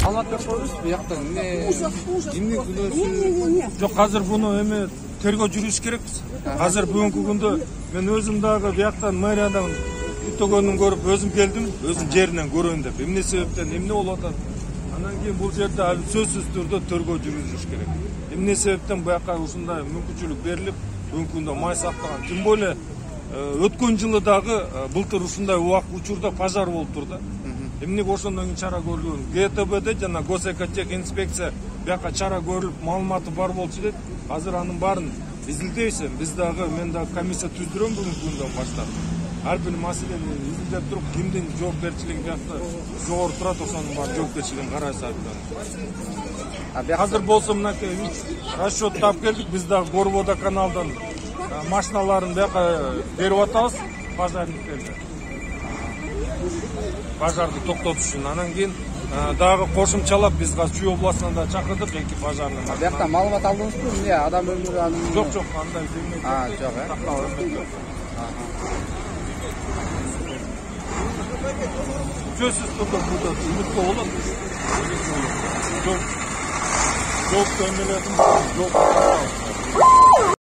Алат деп коебуз бияктан эмне күнөөсү? Жок, азыр буну эме тергөө жүрүш керекпиз. Азыр бүгүнкү күндө мен өзүм дагы бияктан мэриядан үтөгөнүн көрүп өзүм келдим, өзүм жеринен көрөйүн деп. Эмне себептен эмне болуп атат? Анан кийин бул жерде сөзсүз түрдө тергөө жүрүлүш керек. Эмне себептен буяка ушундай мүмкүнчүлүк берилип, бүгүнкү күндө май сактаган? Тем более өткөн жылы дагы былтыр ушундай убак учурда пожар болуптур да. Эмнеге ошондон кийин чара көрүлгөн? ГТБде жана Госэкотехинспекция буяка чара көрүлүп, маалыматы бар болчу деп. Азыр анын баарын изилдейбиз. Биз дагы мен дагы комиссия түздүрөм бүгүнкү күндөн баштап. Ар бир маселени изилдеп туруп, кимдин жоопкерчилиги биякта жогору турат, ошонун баарын жоопкерчилигин карайбыз. Азыр болсо мынакей расчет таап келдик. Биз дагы Горвода каналдан машиналарын бияка берип атабыз пожарниктерге. Пожарды токтотуш үчүн. Анан кийин дагы кошумчалап биз Чүй областынан да чакырдык, эки пожарный машина. Биякта маалымат алдыңызбы? Эмне адам өлүмү анын? Жок, андай демейт. Жок, Сөзсүз түрдө буда үмүттө болот. Жоопту эмеледим, жооп